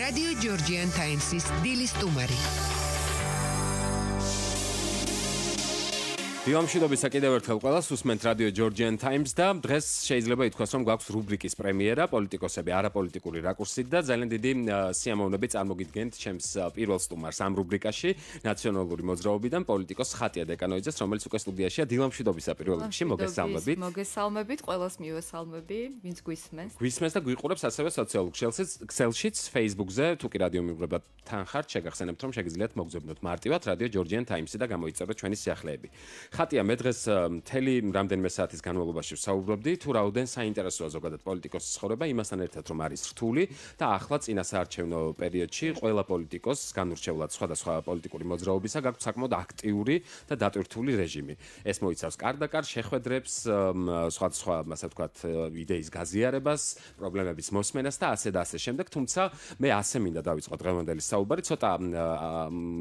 Radio Georgian Times-ის დილის სტუმარი. დილამშვიდობისა კიდევ ერთხელ ყველას უსმენთ Radio Georgian Times და დღეს შეიძლება ითქვას, რომ გვაქვს რუბრიკის პრემიერა პოლიტიკოსები არაპოლიტიკური რაკურსით და ძალიან დიდი სიამოვნებით წარმოგიდგენთ ჩემს პირველ სტუმარს ამ რუბრიკაში ნაციონალური მოძრაობიდან პოლიტიკოს ხატია დეკანოიძეს, რომელიც უკვე სტუდიაშია. დილამშვიდობისა პირველ რიგში მოგესალმებით. მოგესალმებით, ყველას მივესალმები, ვინც გვისმენს. გვისმენს და გვიყურებს ასევე სოციალურ ქსელშიც, Facebook-ზე, თუ კი რადიო მიუღებად თან ხართ, შეგახსენებთ, რომ შეგიძლიათ მოგზაუროთ მარტივად Radio Georgian Times-ი და გამოიწეროთ ჩვენი სიახლეები. ხატია მე დღეს მთელი რამდენიმე საათის განმავლობაში ვსაუბრობდი თუ რაოდენ საინტერესოა ზოგადად პოლიტიკოსის ცხოვრება იმასთან ერთად რომ არის რთული და ახლა წინასაარჩევნო პერიოდში ყველა პოლიტიკოსს განურჩევლად სხვადასხვა პოლიტიკური მოძრაობისა გაქვს საკმაოდ აქტიური და დატვირთული რეჟიმი. ეს მოიცავს კარდაკარ შეხვედრებს, სხვადასხვა ასე ვთქვათ იდეის გაზიარებას, პრობლემების მოსმენას და ასე და ასე შემდეგ, თუმცა მე ასე მინდა დავიწყო დღევანდელი საუბარი, ცოტა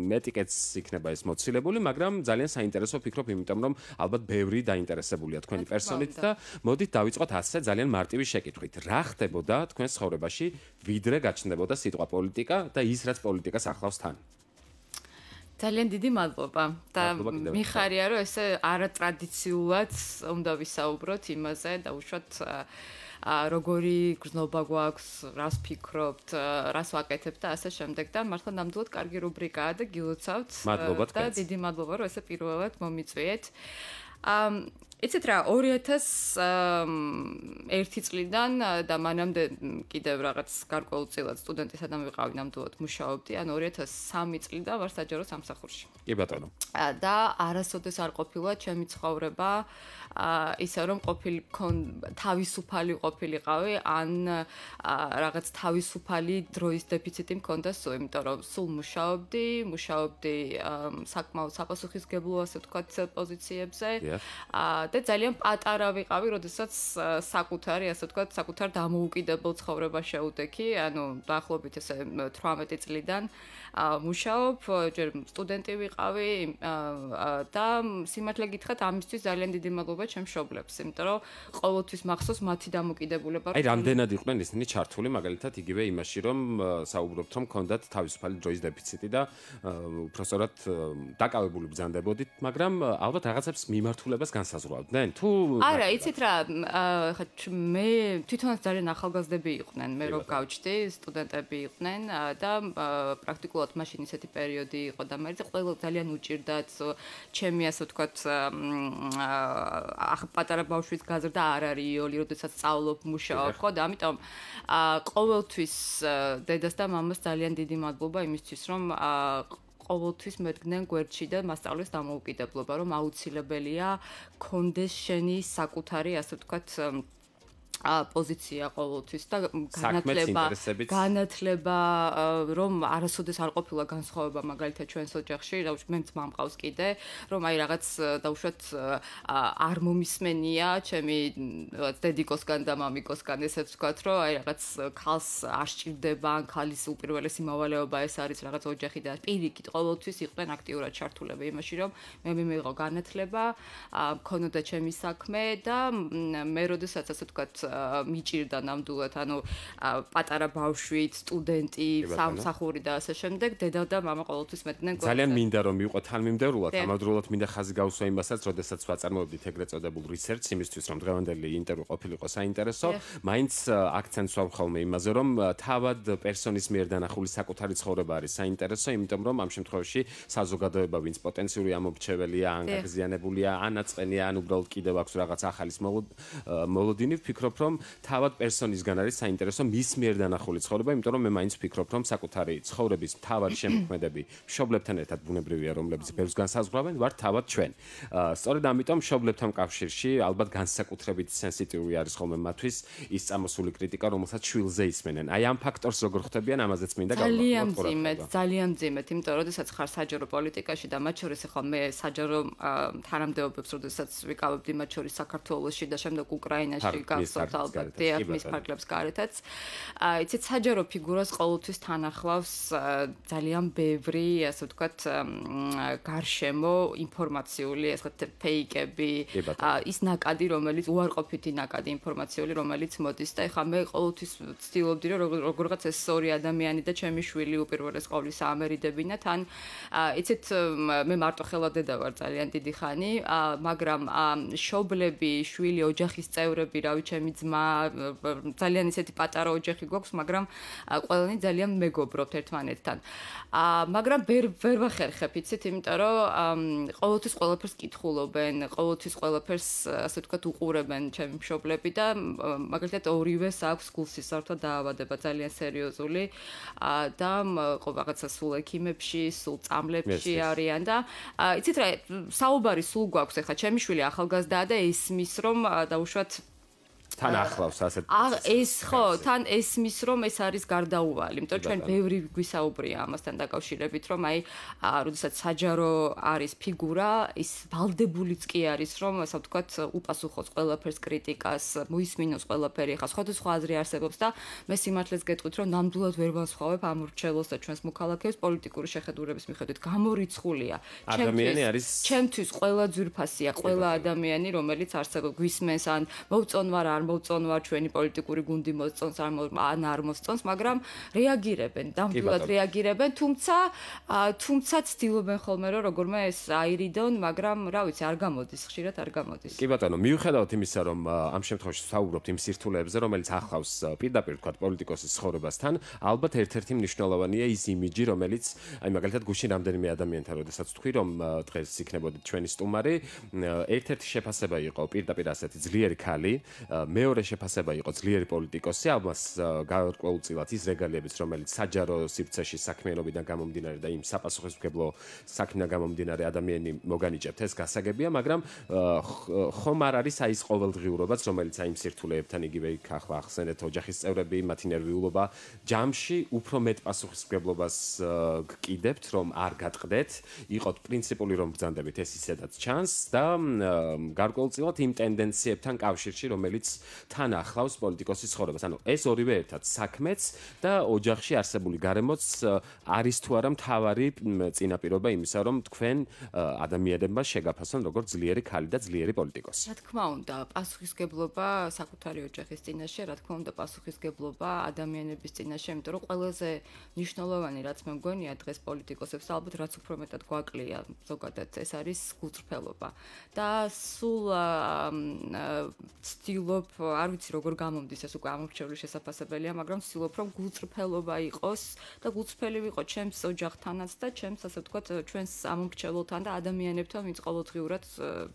მეტიკეც იქნება ეს მოცილებული, მაგრამ ძალიან საინტერესო ვფიქრობ იმიტომ რომ ალბათ ბევრი დაინტერესებულია თქვენი პერსონით და მოდით დავიწყოთ ასე ძალიან მარტივი შეკითხვით. რა ხდებოდა თქვენს ცხოვრებაში, ვიდრე გაჩნდებოდა სიტყვა პოლიტიკა და ის რაც პოლიტიკას ახლავს თან? ძალიან დიდი მადლობა და მიხარია რომ ესე არატრადიციულად უნდა ვისაუბროთ იმაზე და უშუალოდ როგორი გრძნობა გვაქვს, რას ფიქრობთ, რას ვაკეთებთ და ასე შემდეგ და მართლა ნამდვილად კარგი რუბრიკაა და გილოცავთ და დიდი მადლობა რომ ესე პირველად მომიწვიეთ. იცით რა 2001 წლიდან და მანამდე კიდევ რაღაც გარკვეულწილად სტუდენტი სადამ ვიყავი ნამდვილად მუშაობდი ან 2003 წლიდან ვარ საჯარო სამსახურში. კი ბატონო. და არასოდეს არ ყოფილა ჩემი ცხოვრება ისე რომ თავისუფალი ყოფილიყავი ან რაღაც თავისუფალი დროის დეფიციტი მქონდა სულ, იმიტომ რომ სულ მუშაობდი საკმაოდ საპასუხისმგებლო ასე ვთქვათ პოზიციებზე და ძალიან პატარა ვიყავი, როდესაც საკუთარ დამოუკიდებელ ცხოვრება შეუდექი, ანუ დაახლოებით ესე 18 წლიდან მუშაობ, ჯერ სტუდენტი ვიყავი და სიმართლე გითხრათ, ამისთვის ძალიან დიდი მადლობა ჩემს მშობლებს, იმიტომ რომ ყოველთვის მახსოვს მათი დამოკიდებულება. აი, რამდენად იყვნენ ისინი ჩართული, მაგალითად, იგივე იმაში, რომ საუბრობთ, რომ ქონდათ თავისუფალი დროის დეფიციტი და უბრალოდ დაკავებული ბრძანდებოდით, მაგრამ ალბათ რაღაცებს მიმართულებას განსაზღვრავდნენ. თუ არა, იცით რა, მე თვითონაც ძალიან ახალგაზრდები იყვნენ, მე რო გავჩდი, სტუდენტები იყვნენ და პრაქტიკულად მაშინ ისეთი პერიოდი იყო და მე ყველა ძალიან უჭირდათ ჩემი ასე ვთქვათ პატარა ბავშვის გაზრდა არ არის იოლი, როდესაც სწავლობ, მუშაობ, ხო და ამიტომ ყოველთვის დედას და მამას ძალიან დიდი მადლობა იმისთვის, რომ ყოველთვის მედგნენ გვერდში და მასწავლეს დამოუკიდებლობა, რომ აუცილებელია კონდეს შენი საკუთარი, ასე ვთქვათ, პოზიცია ყოველთვის და განათლება, რომ არასოდეს არ ყოფილა განსხვავება მაგალითად ჩვენს ოჯახში, მე ძმა მყავს კიდე, რომ აი რაღაც დაუშვათ არ მომისმენია ჩემი დედიკოსგან და მამიკოსგან ესეც ვთქვათ, რომ აი რაღაც ქალს არ სჭირდება, ან ქალის უპირველესი მოვალეობა ეს არის რაღაც ოჯახი და პირიქით ყოველთვის იყვნენ აქტიურად ჩართულები იმაში, რომ მე მიიღო განათლება, მქონოდა ჩემი საქმე და მე როდესაც ასე ვთქვათ მიჭირდა ნამდვილად, ანუ პატარა ბავშვით, სტუდენტი, სამსახური და ასე შემდეგ, დედა და მამა ყოველთვის მედგნენ გვერდზე. ძალიან მინდა რომ მიყვე თანმიმდევრულად, ამავდროულად მინდა ხაზი გავუსვა იმასაც, როდესაც ვაწარმოებდით ეგრეთ წოდებულ research იმისთვის, რომ დღევანდელი ინტერვიუ ყოფილიყო საინტერესო, მაინც აქცენტს ვავ ხოლმე იმაზე, რომ თავად პერსონის მიერ დანახული საკუთარი ცხოვრება არის საინტერესო, იმიტომ რომ ამ შემთხვევაში საზოგადოება, ვინც პოტენციური ამორჩეველია, ან გაღიზიანებულია, ან აწყენია, ან უბრალოდ კიდევ აქვს რაღაც ახალის მოლოდინი, ვფიქრობ, რომ თავად პერსონისგან არის საინტერესო მის მიერ დანახული ცხოვრება, იმიტომ რომ მე მაინც ვფიქრობ, რომ საკუთარი ცხოვრების თავად შემოქმედები მშობლებთან ერთად ბუნებრივია, რომლებიც ბევრს განსაზღვრავენ, ვართ თავად ჩვენ. სწორედ ამიტომ მშობლებთან კავშირში ალბათ განსაკუთრებით სენსიტიური არის ხოლმე მათთვის ის წამოსული კრიტიკა, რომელსაც შვილზე ისმენენ. აი ამ ფაქტორს როგორ ხვდებიან, ამაზეც მინდა გავაკეთოთ. ძალიან მძიმედ, იმიტომ რომ როდესაც ხარ საჯარო პოლიტიკაში და მათ შორის ახლა მე საჯარო თანამდებობებს, როდესაც ვიკავებდი მათ შორის საქართველოში და შემდეგ უკრაინაში გახსოვთ გახსოვთ ალბათ, დიახ, მის ფარგლებს გარეთაც. იცით, საჯარო ფიგურას ყოველთვის თან ახლავს ძალიან ბევრი, ასე ვთქვათ, გარშემო ინფორმაციული, ასე ვთქვათ, ფეიკები, ის ნაკადი, რომელიც უარყოფითი ნაკადი ინფორმაციული, რომელიც მოდის და ეხლა მე ყოველთვის ვცდილობდი, რომ როგორღაც ეს ორი ადამიანი და ჩემი შვილი უპირველეს ყოვლისა ამერიდებინა თან. იცით, მე მარტო ხელადედა ვარ ძალიან დიდი ხანი, მაგრამ შობლები, შვილი, ოჯახის წევრები, რავი, ჩემი ძმა, ძალიან ისეთი პატარა ოჯახი გვაქვს, მაგრამ ყველანი ძალიან მეგობრობთ ერთმანეთთან. მაგრამ ვერ ვახერხებ, იცით, იმიტომ რომ ყოველთვის ყველაფერს კითხულობენ, ყოველთვის ყველაფერს, ასე ვთქვათ, უყურებენ ჩემი მშობლები და მაგალითად ორივეს აქვს გულსისართვა დაავადება ძალიან სერიოზული და რაღაცა სულ ექიმებში, სულ წამლებში არიან და იცით რა, საუბარი სულ გვაქვს, ეხლა ჩემი შვილი ახალგაზრდაა და ისმის რომ დაუშვათ თან ახლავს ასეთ ეს ხო თან ესმის რომ ეს არის გარდაუვალი, იმიტომ რომ ჩვენ ბევრი გვისაუბრია ამასთან დაკავშირებით, რომ აი როდესაც საჯარო არის ფიგურა, ის ვალდებულიც კი არის, რომ ასე ვთქვათ, უპასუხოს ყველაფერს კრიტიკას, მოისმინოს ყველაფერი, ხა სხვადასხვა აზრი არსებობს და მე სიმართლეს გეტყვით, რომ ნამდვილად ვერ ვასხვავებ ამ მრჩეველს და ჩვენს მოქალაქეებს პოლიტიკური შეხედულების მიხედვით. გამორიცხულია. ადამიანი არის ჩემთვის ყველა ძვირფასია, ყველა ადამიანი, რომელიც არსებობს, გვისმენს ან მოვწონვარ არ მოვწონვარ ჩვენი პოლიტიკური გუნდი მოსწონს ან არ მოსწონს, მაგრამ რეაგირებენ, ნამდვილად რეაგირებენ, თუმცა ცდილობენ ხოლმე რომ როგორმე ეს აირიდონ, მაგრამ რა ვიცი, არ გამოდის, ხშირად არ გამოდის. კი ბატონო, მიუხედავად იმისა, რომ ამ შემთხვევაში ვსაუბრობთ იმ სირთულეებზე, რომელიც ახლავს პირდაპირ თქვა პოლიტიკოსის ცხოვრებასთან, ალბათ ერთ-ერთი მნიშვნელოვანია ის იმიჯი, რომელიც აი მაგალითად გუშინ რამდენიმე ადამიანთან როდესაც თქვი, რომ დღეს იქნებოდით ჩვენი სტუმარი, ერთ-ერთი შეფასება იყო პირდაპირ ასეთი ძლიერი ქალი, მეორე შეფასება იყო ძლიერი პოლიტიკოსი, ამას გარკვეულწილად ის რეგალიებიც, რომელიც საჯარო სივრცეში საქმიანობიდან გამომდინარე და იმ საპასუხისმგებლო საქმიდან გამომდინარე ადამიანი მოგანიჭებთ, ეს გასაგებია, მაგრამ ხომ არ არის აი ეს ყოველდღიურობაც, რომელიც აი იმ სირთულეებთან იგივე იქ ახლა ახსენეთ ოჯახის წევრები, მათი ნერვიულობა, ჯამში უფრო მეტ პასუხისმგებლობას გკიდებთ, რომ არ გატყდეთ, იყოთ პრინციპული რომ ბრძანდებით, ეს ისედაც ჩანს და გარკვეულწილად იმ ტენდენციებთან კავშირში, რომელიც თან ახლავს პოლიტიკოსის ცხოვრებას. ანუ ეს ორივე ერთად საქმეც და ოჯახში არსებული გარემოც არის თუ არა მთავარი წინაპირობა იმისა, რომ თქვენ ადამიანებმა შეგაფასონ როგორც ძლიერი ქალი და ძლიერი პოლიტიკოსი. რა თქმა უნდა, პასუხისგებლობა საკუთარი ოჯახის წინაშე, რა თქმა უნდა, პასუხისგებლობა ადამიანების წინაშე, იმიტომ რომ ყველაზე მნიშვნელოვანი რაც მე მგონია დღეს პოლიტიკოსებს ალბათ რაც უფრო მეტად გვაკლია ზოგადად ეს არის გულწრფელობა. და სულ ვცდილობ, არ ვიცი როგორ გამომდის ეს უკვე ამორჩეული შესაძლებელია, მაგრამ ვცდილობ რომ გულწრფელობა იყოს და გულწრფელი ვიყო ჩემს ოჯახთანაც და ჩემს ასე ვთქვათ ჩვენს ამორჩეულთან და ადამიანებთან, ვინც ყოველდღიურად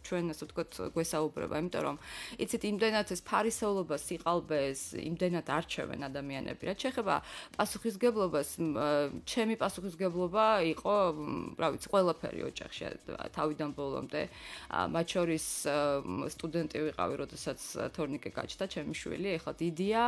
ჩვენ ასე ვთქვათ გვესაუბრება, იმიტომ რომ იცით იმდენად ეს ფარისევლობა, სიყალბეს, იმდენად არჩევენ ადამიანები. რაც შეეხება პასუხისგებლობას, ჩემი პასუხისგებლობა იყო, რა ვიცი, ყველაფერი ოჯახში თავიდან ბოლომდე, მათ შორის სტუდენტი ვიყავი, როდესაც თორნიკე გაჩნდა ჩემი შვილი, ეხლა დიდია,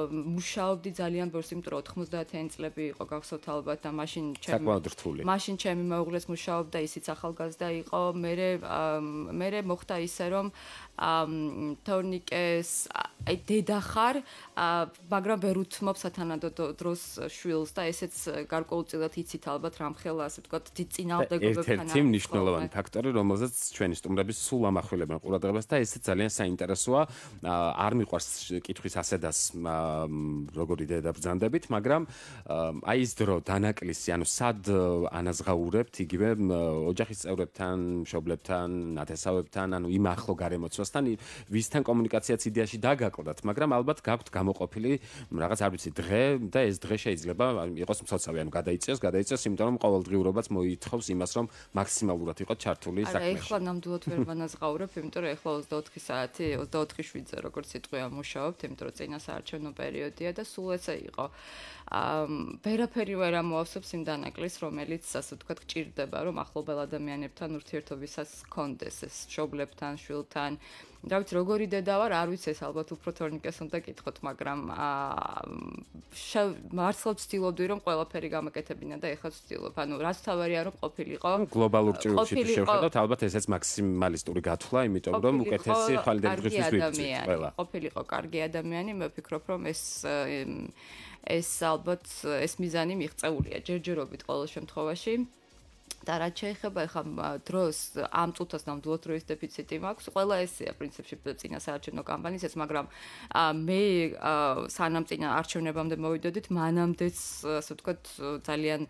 მუშაობდი ძალიან ბევრს, იმიტომ რომ 90-იანი წლები იყო გახსოვთ ალბათ და მაშინ ჩემი მეუღლეს მუშაობდა, ისიც ახალგაზრდა იყო, მე მოხდა ისე რომ თორნიკეს აი დედა ხარ, მაგრამ ვერ უთმობ სათანადო დროს შვილს და ესეც გარკვეულწილად იცით ალბათ რამხელა ასე ვთქვათ დიდ წინააღმდეგობებთან ერთ-ერთი მნიშვნელოვანი ფაქტორი, რომელზეც ჩვენი სტუმრები სულ ამახვილებენ ყურადღებას და ესეც ძალიან საინტერესოა. არ მიყვარს კითხვის ასედას როგორი დედა ბრძანდებით, მაგრამ აი ეს დრო დანაკლისი, ანუ სად ანაზღაურებთ იგივე ოჯახის წევრებთან, მშობლებთან, ნათესავებთან, ანუ იმ ახლო გარემოცვასთან, ვისთან კომუნიკაციაც იდეაში დაგაკლდათ, მაგრამ ალბათ გაქვთ გამოყოფილი რაღაც არ ვიცი დღე და ეს დღე შეიძლება იყოს მცოცავი, ანუ გადაიწეს, იმიტომ რომ ყოველდღიურობაც მოითხოვს იმას, რომ მაქსიმალურად იყოთ ჩართული საქმეში. არა, ეხლა ნამდვილად ვერ ვანაზღაურებ, იმიტომ რომ ეხლა 24 საათი 24/7-ზე როგორც სიტყვია მუშაობთ, იმიტომ რომ წინა საარჩევნო პერიოდია და სულ ესე იყო. ვერაფერი ვერ ამოავსებს იმ დანაკლის, რომელიც ასე ვთქვათ გჭირდება, რომ ახლობელ ადამიანებთან ურთიერთობისას გქონდეს ეს მშობლებთან, შვილთან, რა ვიცი, როგორი დედა ვარ, არ ვიცი, ეს ალბათ უფრო თორნიკეს უნდა კითხოთ, მაგრამ მართლა ვცდილობდი, რომ ყველაფერი გამაკეთებინა და ეხლა ვცდილობ. ანუ რაც თავარია, რომ ყოფილიყო. გლობალურ ჭრილში თუ შევხედოთ, ალბათ ესეც მაქსიმალისტური გათვლა, იმიტომ რომ უკეთესი ხვალიდან დღისთვის ვიცით ყველა. ყოფილიყო კარგი ადამიანი, მე ვფიქრობ, რომ ეს ალბათ ეს მიზანი მიღწეულია ჯერჯერობით ყოველ შემთხვევაში. და რაც შეეხება ახლა დროს ამ წუთას ნამდვილად დროის დეფიციტი მაქვს. ყველა ესეა პრინციპში წინა საარჩევნო კამპანიისას, მაგრამ მე სანამ წინა არჩევნებამდე მოვიდოდით, მანამდეც ასე ვთქვათ ძალიან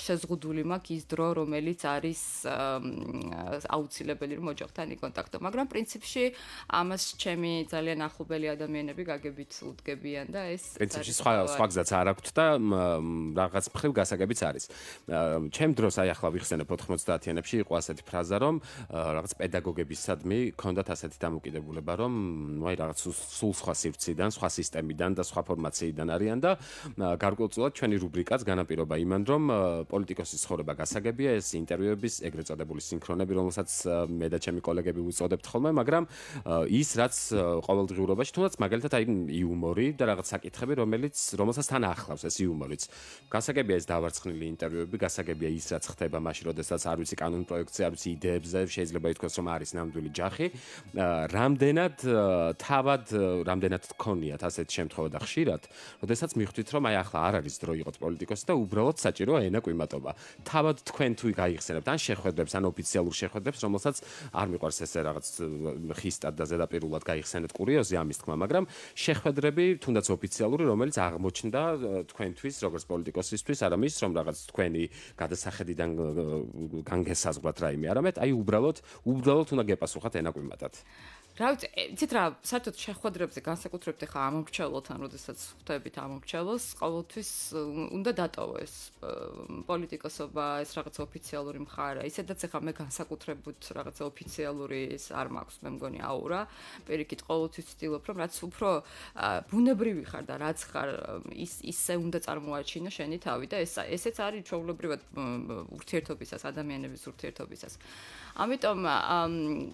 შეზღუდული მაქვს ის დრო, რომელიც არის აუცილებელი რომ ოჯახთან იკონტაქტო. მაგრამ პრინციპში ამას ჩემი ძალიან ახლობელი ადამიანები გაგებით უდგებიან და ეს პრინციპში სხვა გზაც არ აქვს და რაღაც მხრივ გასაგებიც არის. ჩემ დროს აი ახლა ვიხსენებ 90-იანებში იყო ასეთი ფრაზა, რომ რაღაც პედაგოგებისადმი ჰქონდათ ასეთი დამოკიდებულება, რომ აი რაღაც სულ სხვა სივრციდან, სხვა სისტემიდან და სხვა ფორმაციიდან არიან და გარკვეულწილად ჩვენი რუბრიკაც განაპირობა იმან, რომ პოლიტიკოსის ცხოვრება გასაგებია, ეს ინტერვიუების ეგრეთ წოდებული სინქრონები, რომელსაც მე და ჩემი კოლეგები ვუწოდებთ ხოლმე, მაგრამ ის რაც ყოველდღიურობაში, თუნდაც მაგალითად აი იუმორი და რაღაც საკითხები, რომელსაც თან ახლავს ეს იუმორიც. გასაგებია ეს დავარცხნილი ინტერვიუები, გასაგებია ის რაც ხდება მაშინ, როდესაც არ ვიცი კანონ პროექტზე, არ ვიცი იდეებზე, შეიძლება ითქვას, რომ არის ნამდვილი ჯახი. რამდენად თქონიათ ასეთი შემთხვევა და ხშირად, როდესაც მიხვდით, რომ აი ახლა არ არის დრო იყოთ პოლიტიკოსი და უბრალოდ საჭიროა ენა კვიმატობა. თავად თქვენ თუ გაიხსენებთ ან შეხვედრებს, ან ოფიციალურ შეხვედრებს, რომელსაც არ მიყვარს ესე რაღაც ხისტად და ზედაპირულად გაიხსენეთ კურიოზი ამის თქმა, მაგრამ შეხვედრები, თუნდაც ოფიციალური, რომელიც აღმოჩნდა თქვენთვის, როგორც პოლიტიკოსისთვის, არამის რომ რაღაც თქვენი გადასახედიდან განგესაზღვრათ რაიმე, არამედ აი უბრალოდ უნდა გეპასუხათ ენა კვიმატად. რა ვიცი, იცით რა, საერთოდ შეხვედრებზე განსაკუთრებით ახლა ამომრჩევლთან, როდესაც ხვდებით ამომრჩევლს, ყოველთვის უნდა დატოვო ეს პოლიტიკოსობა, ეს რაღაც ოფიციალური მხარე. ისედაც ახლა მე განსაკუთრებით რაღაც ოფიციალური ის არ მაქვს, მე მგონი აურა. პირიქით ყოველთვის ვცდილობ, რომ რაც უფრო ბუნებრივი ხარ და რაც ხარ, ისე უნდა წარმოაჩინო შენი თავი და ესეც არის ჩვეულებრივად ურთიერთობისას, ადამიანების ურთიერთობისას. ამიტომ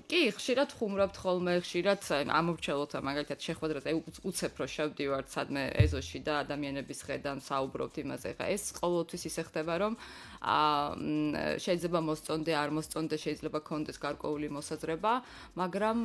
კი, ხშირად ხუმრავთ ხოლმე, ხშირად ამორჩევლოთ მაგალითად შეხვედრაზე, უცებ რო შევდივართ სადმე ეზოში და ადამიანების ხედან საუბრობთ იმაზე. ხა ეს ყოველთვის ისე ხდება, რომ შეიძლება მოსწონდე, არ მოსწონდე, შეიძლება კონდეს გარკვეული მოსაზრება, მაგრამ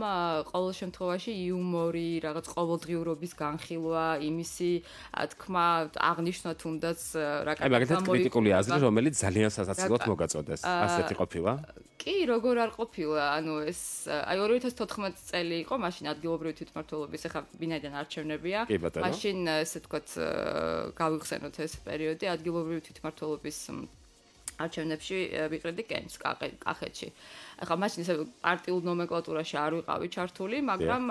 ყოველ შემთხვევაში იუმორი, რაღაც ყოველდღიურობის განხილვა, იმისი თქმა აღნიშნვა თუნდაც რა აი მაგალითად კრიტიკული აზრი, რომელიც ძალიან სასაცილოდ მოგაწოდეს. ასეთი ყოფილა? კი, როგორ არ ყოფილა, ანუ ეს აი 2014 წელი იყო, მაშინ ადგილობრივი თვითმმართველობის, ახლა ვინაიდან არჩევნებია, მაშინ ესე ვთქვათ გავიხსენოთ ეს პერიოდი ადგილობრივი თვითმმართველობის არჩევნებში ვიყრედი კენჭს კახეთში. ახლა მაშინ ესე პარტიულ ნომენკლატურაში არ ვიყავი ჩართული, მაგრამ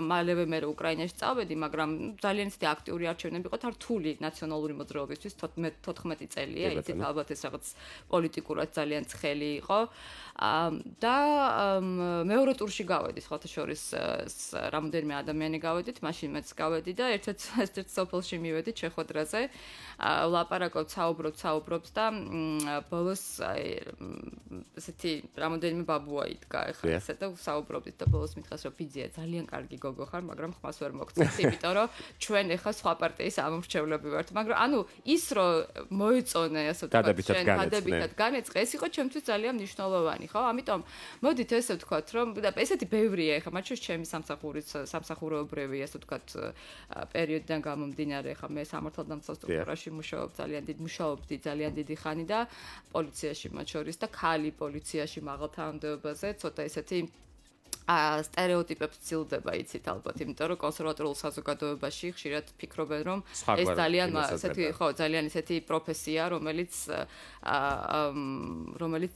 მალევე მე უკრაინაში წავედი, მაგრამ ძალიან ისეთი აქტიური არჩევნები იყო რთული ნაციონალური მოძრაობისთვის 14 წელია, იცით ალბათ ეს რაღაც პოლიტიკურად ძალიან ცხელი იყო. და მეორე ტურში გავედი, სხვათა შორის რამოდენიმე ადამიანი გავედით, მაშინ მეც გავედი და ერთ-ერთ სოფელში მივედით შეხვედრაზე. ვლაპარაკობთ, საუბრობთ და ბოლოს ესეთი რამოდენიმე ბაბუა იდგა ახლა ესე და საუბრობდით და ბოლოს მითხას რომ ბიძია ძალიან კარგი გოგო ხარ, მაგრამ ხმას ვერ მოგწევთ, იმიტომ რომ ჩვენ ახლა სხვა პარტიის ამომრჩევლები ვართ, მაგრამ ანუ ის რომ მოიწონე ასე ვთქვათ, დადებითად განეწყე, ეს იყო ჩემთვის ძალიან მნიშვნელოვანი, ხო? ამიტომ მოდით ესე ვთქვათ, რომ და ესეთი ბევრია ახლა, მათ შორის ჩემი სამსახურეობრივი ასე ვთქვათ პერიოდიდან გამომდინარე, ახლა მე სამართალდამცავ სტრუქტურაში მუშაობდი ძალიან დიდი ხანი და პოლიციაში მათ შორის და ქალი პოლიციაში მაღალ თანამდებობაზე ცოტა ესეთი სტერეოტიპებს ცილდება, იცით ალბათ, იმიტომ რომ კონსერვატორულ საზოგადოებაში ხშირად ფიქრობენ, რომ ეს ძალიან ისეთი პროფესია, რომელიც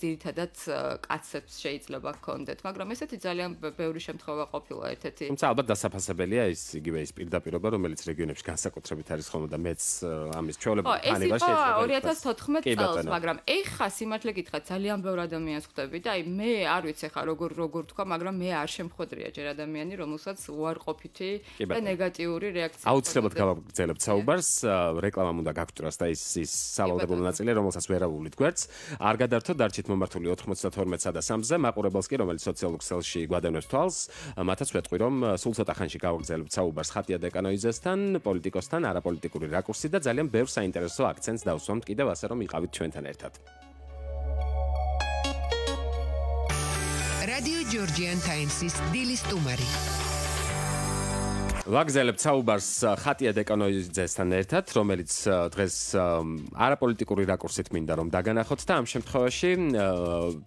ძირითადად კაცებს შეიძლება ჰქონდეთ, მაგრამ ესეთი ძალიან ბევრი შემთხვევა ყოფილა ერთ-ერთი. თუმცა ალბათ დასაფასებელია იგივე ის პირდაპირობა, რომელიც რეგიონებში განსაკუთრებით არის ხოლმე და მეც ამის ჩვეულებრივ ხანება შეიძლება. ეს იყო 2014 წელს, მაგრამ ეხა სიმართლე გითხრათ, ძალიან ბევრი ადამიანს ხვდები და აი მე არ ვიცი ხა როგორ თქვა, მაგრამ მე არ შემხვედრია ჯერ ადამიანი, რომელსაც უარყოფითი და ნეგატიური რეაქცია. აუცილებლად გავაგრძელებთ საუბარს, რეკლამამ უნდა გაგჭრას და ის სავალდებულო ნაწილი, რომელსაც ვერავულით გვერდს. არ გადართო დარჩით მომართული 92-სა და 3-ზე, მაყურებელს კი, რომელიც სოციალურ ქსელში გვადევნებს თვალს, მათაც ვეტყვი, რომ სულ ცოტა ხანში გავაგრძელებთ საუბარს ხატია დეკანოიძესთან, პოლიტიკოსთან, არაპოლიტიკური რაკურსით და ძალიან ბევრ საინტერესო აქცენტს დავსვამთ კიდევ ასე რომ იყავით ჩვენთან ერთად. რადიო ჯორჯიან ტაიმსის დილის სტუმარი. ვაგზელებთ საუბარს ხატია დეკანოიძესთან ერთად, რომელიც დღეს არაპოლიტიკური რაკურსით მინდა რომ დაგანახოთ და ამ შემთხვევაში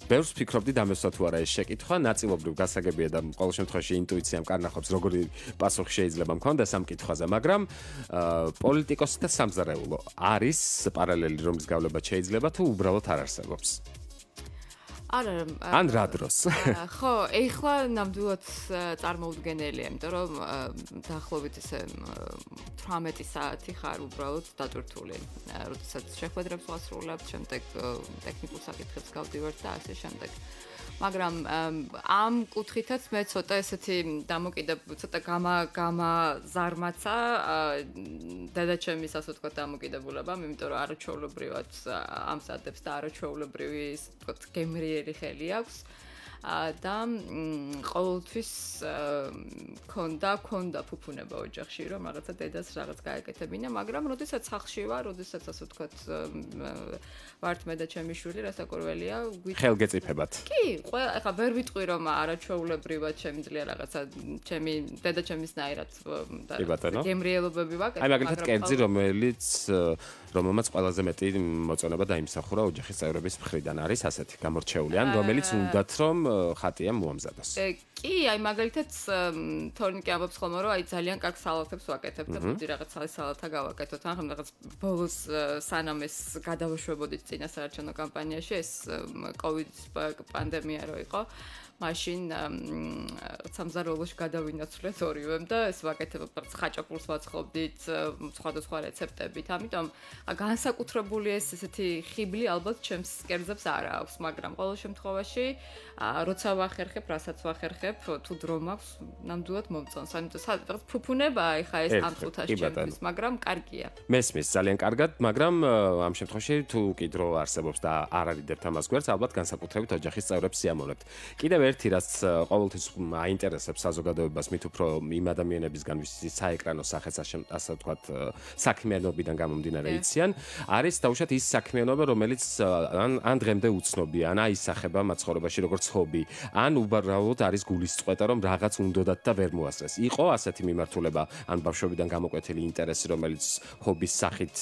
ბევრს ფიქრობდი დამესვა თუ არა ეს შეკითხვა, ნაწილობრივ გასაგებია და ყოველ შემთხვევაში ინტუიციამ კარნახობს როგორი პასუხი შეიძლება მქონდეს ამ კითხვაზე, მაგრამ პოლიტიკოსი და სამზარეულო არის პარალელი რომლის გავლება შეიძლება თუ უბრალოდ არ არსებობს? არა, ან რა დროს? ხო, ეხლა ნამდვილად წარმოუდგენელია, იმიტომ რომ დაახლოებით ესე 18 საათი ხარ უბრალოდ დატვირთული. როდესაც შეხვედრებს ვასრულებთ, შემდეგ ტექნიკურ საკითხებს გავდივართ და ასე შემდეგ. მაგრამ ამ კუთხითაც მე ცოტა ესეთი ცოტა გამაზარმაცა დედაჩემის ასე ვთქვათ დამოკიდებულებამ, იმიტომ რომ არაჩვეულებრივად ამზადებს და არაჩვეულებრივი ასე ვთქვათ გემრიელი ხელი აქვს. და ყოველთვის ქონდა ფუფუნება ოჯახში, რომ რაღაცა დედას რაღაც გაეკეთებინა, მაგრამ როდესაც სახლში ვარ, როდესაც ასე ვთქვათ ვართ მე და ჩემი შვილი, რასაკვირველია, ხელგეწიფებათ. კი, ეხლა ვერ ვიტყვი რომ არაჩვეულებრივად შემიძლია რაღაცა ჩემი დედაჩემისნაირად გემრიელობები ვაკეთებ, აი მაგალითად კერძი, რომელმაც ყველაზე მეტი მოწონება დაიმსახურა ოჯახის წევრების მხრიდან არის ასეთი გამორჩეული, ან რომელიც უნდათ რომ ხატია მოამზადოს. კი, აი მაგალითად თორნიკე ამბობს ხოლმე რომ აი ძალიან კარგ სალათებს ვაკეთებ და ბუდი რაღაც სალათა გავაკეთოთ, ან რაღაც ბოლოს სანამ ეს გადავაშვებოდით წინასაარჩევნო კამპანიაში ეს კოვიდის პანდემია რო იყო მაშინ სამზარეულოში გადავინაცვლეთ ორივემ და ეს ვაკეთებთ ხაჭაპურს ვაცხობდით სხვადასხვა რეცეპტებით. ამიტომ განსაკუთრებული ეს ესეთი ხიბლი ალბათ ჩემს კერძებს არ აქვს, მაგრამ ყოველ შემთხვევაში როცა ვახერხებ, რასაც ვახერხებ, თუ დრო მაქვს, ნამდვილად მომწონს. ამიტომ რაღაც ფუფუნებაა ეხა ეს ამ წუთაში ჩემთვის, მაგრამ კარგია. მესმის ძალიან კარგად, მაგრამ ამ შემთხვევაში თუ კი დრო არსებობს და არ არიდებთ ამას გვერდს, ალბათ განსაკუთრებით ოჯახის წევრებს სიამოვნებთ. კიდევ ერთი რაც ყოველთვის აინტერესებს საზოგადოებას მით უფრო იმ ადამიანებისგან ვისაც საეკრანო სახეს ასე ვთქვათ საქმიანობიდან გამომდინარე იციან, არის დაუშვათ ის საქმიანობა, რომელიც ან დღემდე უცნობია, ან აისახება მაცხოვრებაში როგორც ჰობი, ან უბრალოდ არის გულისწყეთა, რომ რაღაც უნდოდათ და ვერ მოასწრეს. იყო ასეთი მიმართულება, ან ბავშვობიდან გამოკვეთილი ინტერესი, რომელიც ჰობის სახით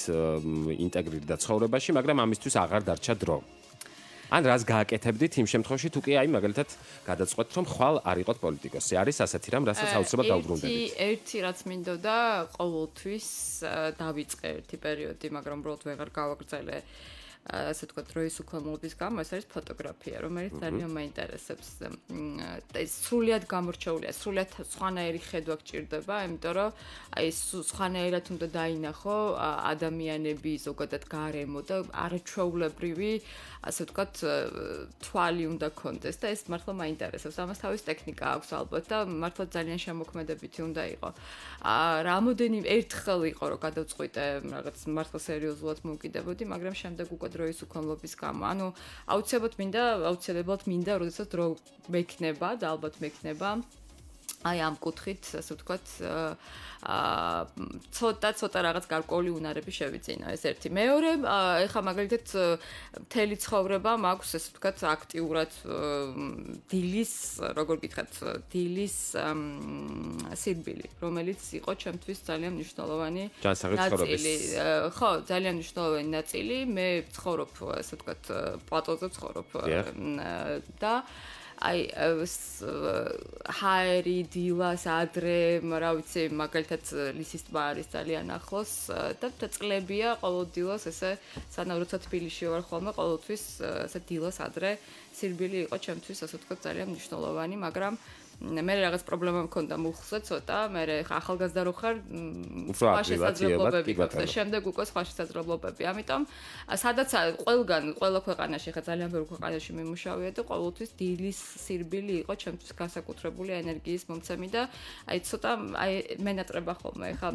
ინტეგრირდა ცხოვრებაში, მაგრამ ამისთვის აღარ დარჩა დრო. ან რას გააკეთებდით იმ შემთხვევაში თუ კი აი მაგალითად გადაწყვეტთ რომ ხვალ არ იყოთ პოლიტიკოსი. არის ასეთი რამ, რასაც აუცილებლად დაუბრუნდებით. ერთი რაც მინდოდა ყოველთვის დავიწყე ერთი პერიოდი, მაგრამ უბრალოდ ვეღარ გავაგრძელე ასე ვთქვათ დროის უქონლობის გამო, ეს არის ფოტოგრაფია, რომელიც ძალიან მაინტერესებს. ეს სრულიად გამორჩეულია, სრულიად სხვანაირი ხედვა გჭირდება, იმიტომ რომ აი სხვანაირად უნდა დაინახო ადამიანები, ზოგადად გარემო და არაჩვეულებრივი ასე ვთქვათ თვალი უნდა კონდეს და ეს მართლა მაინტერესებს. ამას თავის ტექნიკა აქვს ალბათ და მართლა ძალიან შემოქმედებითი უნდა იყო. რამოდენი ერთხელ იყო რომ გადავწყვიტე რაღაც მართლა სერიოზულად მოვკიდებოდი, მაგრამ შემდეგ უკვე დროის უქონლობის გამო. ანუ აუცილებლად მინდა, როდესაც დრო მექნება და ალბათ მექნება აი ამ კუთხით, ასე ვთქვათ, ცოტა რაღაც გარკვეული უნარები შევიძინო, ეს ერთი. მეორე, ეხლა მაგალითად მთელი ცხოვრება მაქვს, ასე ვთქვათ, აქტიურად დილის, როგორ გითხრათ, დილის სირბილი, რომელიც იყო ჩემთვის ძალიან მნიშვნელოვანი ნაწილი. ხო, ძალიან მნიშვნელოვანი ნაწილი. მე ვცხოვრობ, ასე ვთქვათ, პლატოზე ვცხოვრობ და აი ჰაერი დილას ადრე, რა ვიცი, მაგალითად ლისის ტბა არის ძალიან ახლოს და წლებია ყოველ დილას ესე სანამ როცა თბილისში ვარ ხოლმე ყოველთვის ესე დილას ადრე სირბილი იყო ჩემთვის ასე ვთქვათ ძალიან მნიშვნელოვანი, მაგრამ მე რაღაც პრობლემა მქონდა მუხლზე ცოტა, მე ახალგაზრდა რო ხარ, სხვა შესაძლებლობები აქვს და შემდეგ უკვე სხვა შესაძლებლობები. ამიტომ სადაც ყველა ქვეყანაში ხა ძალიან ბევრ ქვეყანაში მიმუშავია და ყოველთვის დილის სირბილი იყო ჩემთვის განსაკუთრებული ენერგიის მომცემი და აი ცოტა მენატრება ხოლმე ხა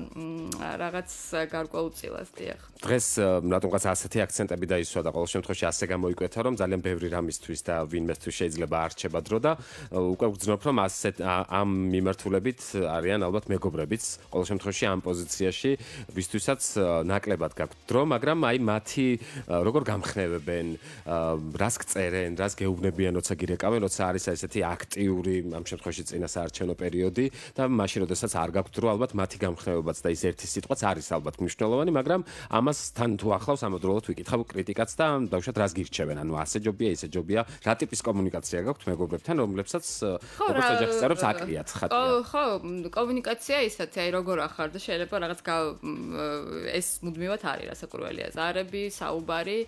რაღაც გარკვეულწილად დიახ. დღეს რატომღაც ასეთი აქცენტები დაისვა და ყოველ შემთხვევაში ასე გამოიკვეთა რომ ძალიან ბევრი რამისთვის და ვინმესთვის შეიძლება არჩება დრო და უკვე ვგრძნობ რომ ამ მიმართულებით არიან ალბათ მეგობრებიც ყოველ შემთხვევაში ამ პოზიციაში ვისთვისაც ნაკლებად გაქვთ დრო მაგრამ აი მათი როგორ გამხნევებენ რას გწერენ რას გეუბნებიან როცა გირეკავენ როცა არის ესეთი აქტიური ამ შემთხვევაში წინასაარჩევნო პერიოდი და მაშინ როდესაც არ გაქვთ დრო ალბათ მათი გამხნევებაც და ის ერთი სიტყვაც არის ალბათ მნიშვნელოვანი მაგრამ ამას თან თუ ახლავს ამავდროულად ვიკითხავ კრიტიკაც და დაუშვათ რას გირჩევენ ანუ ასე ჯობია ისე ჯობია რა ტიპის კომუნიკაცია გაქვთ მეგობრებთან რომლებსაც როგორც ოჯახის წევრებს აკლიათ ხატია ხო კომუნიკაცია ისეთი აი როგორ ახარ და შეიძლება რაღაც ეს მუდმივად არის რასაკვირველია ზარები საუბარი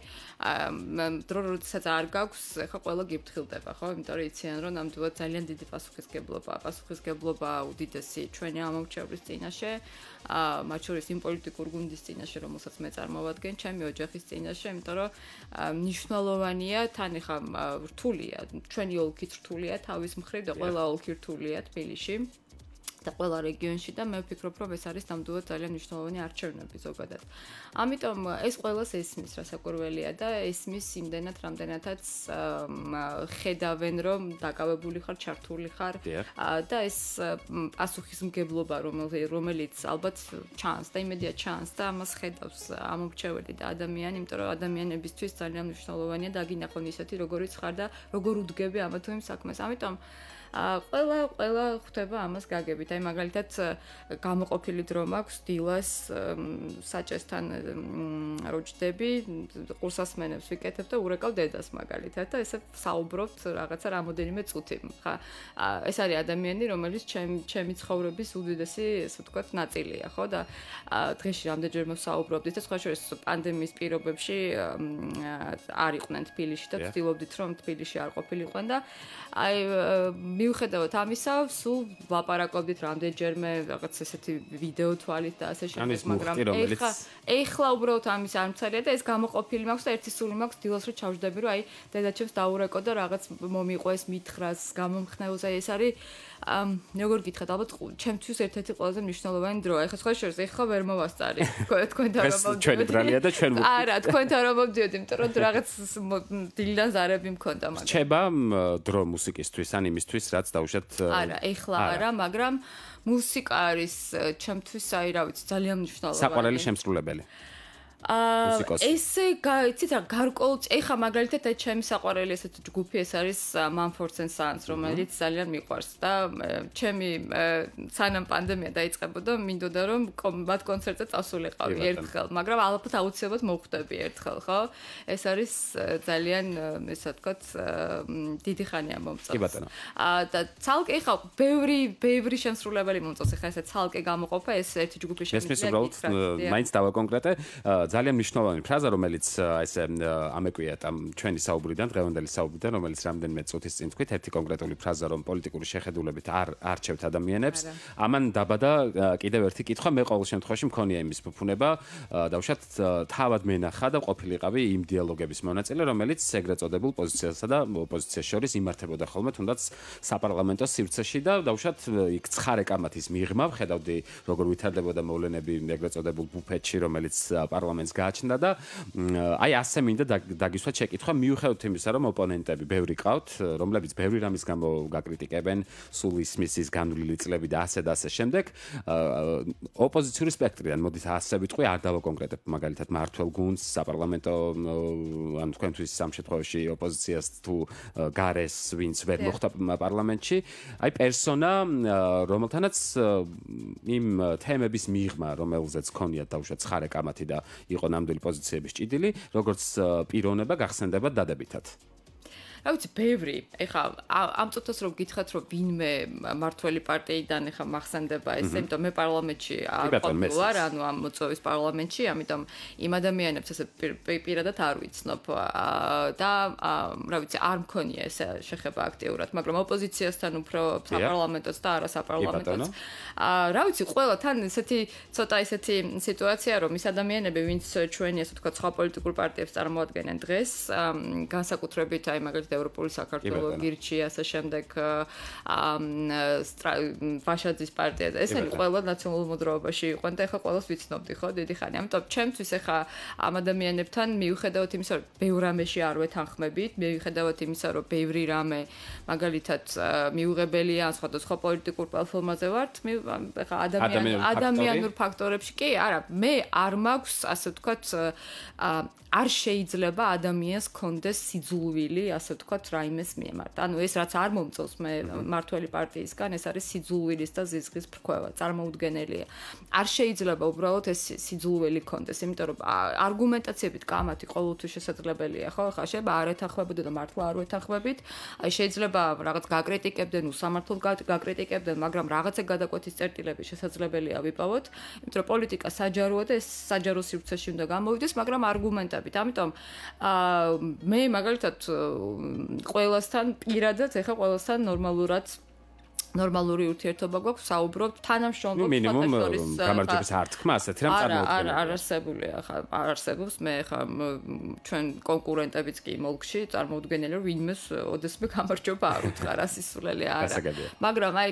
დრო როდესაც არ გაქვს ხა ყველა გიფრთხილდება ხო იმიტომ რომ იციან რომ ნამდვილად ძალიან დიდი პასუხისგებლობა უდიდესი ჩვენი ამომრჩევლის წინაშე მათ შორის იმ პოლიტიკურ გუნდის წინაშე რომელსაც მე წარმოვადგენ ჩემი ოჯახის წინაშე იმიტომ რომ მნიშვნელოვანია თან ხა რთულია ჩვენი ოლქიც რთულია თავის მხრივ და ყველა ოლქი რთულია თბილისში და ყველა რეგიონში და მე ვფიქრობ რომ ეს არის ნამდვილად ძალიან მნიშვნელოვანი არჩევნები ზოგადად. ამიტომ ეს ყველას ესმის რასაკვირველია და ესმის იმდენად რამდენადაც ხედავენ რომ დაკავებული ხარ, ჩართული ხარ და ეს პასუხისმგებლობა რომელიც ალბათ ჩანს და იმედია ჩანს და ამას ხედავს ამომრჩეველი და ადამიანი, იმიტომ რომ ადამიანებისთვის ძალიან მნიშვნელოვანია დაგინახონ ისეთი როგორიც ხარ და როგორ უდგები ამა თუ იმ საქმეს. ამიტომ ყველა ხვდება ამას გაგებით. აი მაგალითად გამოყოფილი დრო მაქვს დილას საჭესთან როჭდები, ყურსასმენებს ვიკეთებ და ურეკავ დედას მაგალითად და ესე საუბრობთ რაღაცა რამოდენიმე წუთი. ხა ეს არის ადამიანი, რომელიც ჩემი ცხოვრების უდიდესი, ესე ვთქვათ, ნაწილია, ხო? და დღეში რამდენჯერმე ვსაუბრობდით და სხვა შორის პანდემიის პირობებში არ იყვნენ თბილისში და ვცდილობდით რომ თბილისში არ ყოფილიყვენ და აი მიუხედავად ამისა, სულ ვლაპარაკობდით რამდენჯერმე რაღაც ესეთი ვიდეო თვალით და ასე შემდეგ, მაგრამ ეხლა უბრალოდ ამის არ მცალია და ეს გამოყოფილი მაქვს და ერთი სული მაქვს დილას რომ ჩავждები რომ აი დედაჩემს დაურეკო და რაღაც მომიყვეს მითხრას გამომხნევს აი ეს არის როგორ გითხრათ ალბათ ჩემთვის ერთ-ერთი ყველაზე მნიშვნელოვანი დროა. ეხლა სხვა შორის ეხლა ვერ მოვასწარი თქვენთან რომ მოვდიოდი. ჩვენი ბრალია და ჩვენ არა თქვენთან რომ მოვდიოდი, იმიტომ რომ რაღაც დილიდან ზარები მქონდა მაგრამ. რჩება დრო მუსიკისთვის ან იმისთვის რაც დაუშვათ არა, ეხლა არა, მაგრამ მუსიკა არის ჩემთვის აი რა ვიცი ძალიან მნიშვნელოვანი. საყვარელი შემსრულებელი. ესე იცით რა გარკვეულ ეხა მაგალითად აი ჩემი საყვარელი ესეთი ჯგუფი ეს არის Mumford & Sons რომელიც ძალიან მიყვარს და ჩემი სანამ პანდემია დაიწყებოდა მინდოდა რომ მათ კონცერტზე წასულიყავი ერთხელ მაგრამ ალბათ აუცილებლად მოვხვდები ერთხელ ხო ეს არის ძალიან ესე ვთქვათ დიდი ხანია მომწონს და ცალკე ეხა ბევრი შემსრულებელი მომწონს ეხა ესე ცალკე გამოყოფა ეს ერთი ჯგუფი შემიძლია მაინც დავაკონკრეტე ძალიან მნიშვნელოვანი ფრაზა, რომელიც ესე ამეკვიათ ამ ჩვენი საუბრიდან, დღევანდელი საუბრიდან, რომელიც რამდენიმე წუთის წინ თქვით, ერთი კონკრეტული ფრაზა, რომ პოლიტიკური შეხედულებით არ არჩევთ ადამიანებს. ამან დაბადა კიდევ ერთი კითხვა, მე ყოველ შემთხვევაში მქონია იმის ფუფუნება, დავუშვათ თავად მენახა და ყოფილიყავი იმ დიალოგების მონაწილე, რომელიც ეგრეთ წოდებულ პოზიციასა და ოპოზიციას შორის იმართებოდა ხოლმე, თუნდაც საპარლამენტო სივრცეში და დავუშვათ იქ ცხარე კამათის მიღმა, ხედავდი როგორ ვითარდებოდა მოვლენები ეგრეთ წოდებულ ბუფეტში, რომელიც პარლამენტს გააჩნდა და აი ასე მინდა დაგისვათ შეკითხვა მიუხედავად იმისა რომ ოპონენტები ბევრი ყავთ რომლებიც ბევრი რამის გამო გაკრიტიკებენ სულ ისმის განვლილი წლები და ასე შემდეგ ოპოზიციური სპექტრიდან მოდით ასე ვიტყვი არ დავაკონკრეტებ მაგალითად მართლ გუნდს საპარლამენტო ან თქვენთვის სამ შემთხვევაში ოპოზიციას თუ გარეს ვინც ვერ მოხვდა პარლამენტში აი პერსონა რომელთანაც იმ თემების მიღმა რომელზეც ქონიათ დაუშვათ ცხარე კამათი და იყო ნამდვილი პოზიციების ჭიდილი, როგორც პიროვნება გახსენდება დადებითად. რა ვიცი, ბევრი. ეხლა ამ წუთას რომ გითხრათ, რომ ვინმე მართველი პარტიიდან ეხლა მახსენდება ესე, იმიტომ მე პარლამენტში ვარ, ანუ ამ მოწვევის პარლამენტში, ამიტომ იმ ადამიანებს ესე პირადად არ ვიცნობ და რა ვიცი, არ მქონია ეს შეხება აქტიურად, მაგრამ ოპოზიციასთან უფრო საპარლამენტოც და არა საპარლამენტოც. რა ვიცი, ყველა თან ესეთი ცოტა ესეთი სიტუაცია, რომ ის ადამიანები, ვინც ჩვენი ასე ვთქვათ, სხვა პოლიტიკურ პარტიებს წარმოადგენენ დღეს, განსაკუთრებით აი მაგალითად ევროპული საქართველო, გირჩი, ასე შემდეგ ვაშაძის პარტია და ესენი ყველა ნაციონალურ მოძრაობაში იყვნენ და ეხლა ყველას ვიცნობდი, ხო, დიდი ხანი. ამიტომ ჩემთვის ეხლა ამ ადამიანებთან მიუხედავად იმისა, რომ ბევრ რამეში არ ვეთანხმებით, მიუხედავად იმისა, რომ ბევრი რამე მაგალითად მიუღებელია სხვადასხვა პოლიტიკურ პლატფორმაზე ვართ, ეხლა ადამიანურ ფაქტორებში კი, არა, მე არ მაქვს, ასე ვთქვათ, არ შეიძლება ადამიანს კონდეს სიძულვილი, ასე ვთქვათ, რაიმეს მიემართ. ანუ ეს რაც არ მომწონს მე მართველი პარტიისგან, ეს არის სიძულვილის და ზიზღის ფრქვევა, წარმოუდგენელია. არ შეიძლება უბრალოდ ეს სიძულვილი კონდეს, იმიტომ რომ არგუმენტაციებით კამათი ყოველთვის შესაძლებელია, ხო? ხა შეიძლება არ ეთანხმებოდეთ და მართლა არ ვეთანხმებით. აი შეიძლება რაღაც გაკრიტიკებდნენ, უსამართლოდ გაკრიტიკებდნენ, მაგრამ რაღაცა გადაკვეთის წერტილები შესაძლებელია ვიპოვოთ, იმიტომ რომ პოლიტიკა საჯაროა და ეს საჯარო სივრცეში უნდა გამოვიდეს, მაგრამ არგუმენტები ამიტომ მე მაგალითად ყველასთან პირადად ეხა ყველასთან ნორმალური ურთიერთობა გვაქვს, საუბრობთ, თანამშრომლობთ, მინიმუმ გამარჯვების არ თქმა ასეთ რამ წარმოუდგენელი. არ არსებული ახლა არ არსებობს, მე ახლა ჩვენ კონკურენტებიც კი მოლქში წარმოუდგენელი რომ ვინმეს ოდესმე გამარჯვება არ უთხრა, სისულელი არა. მაგრამ აი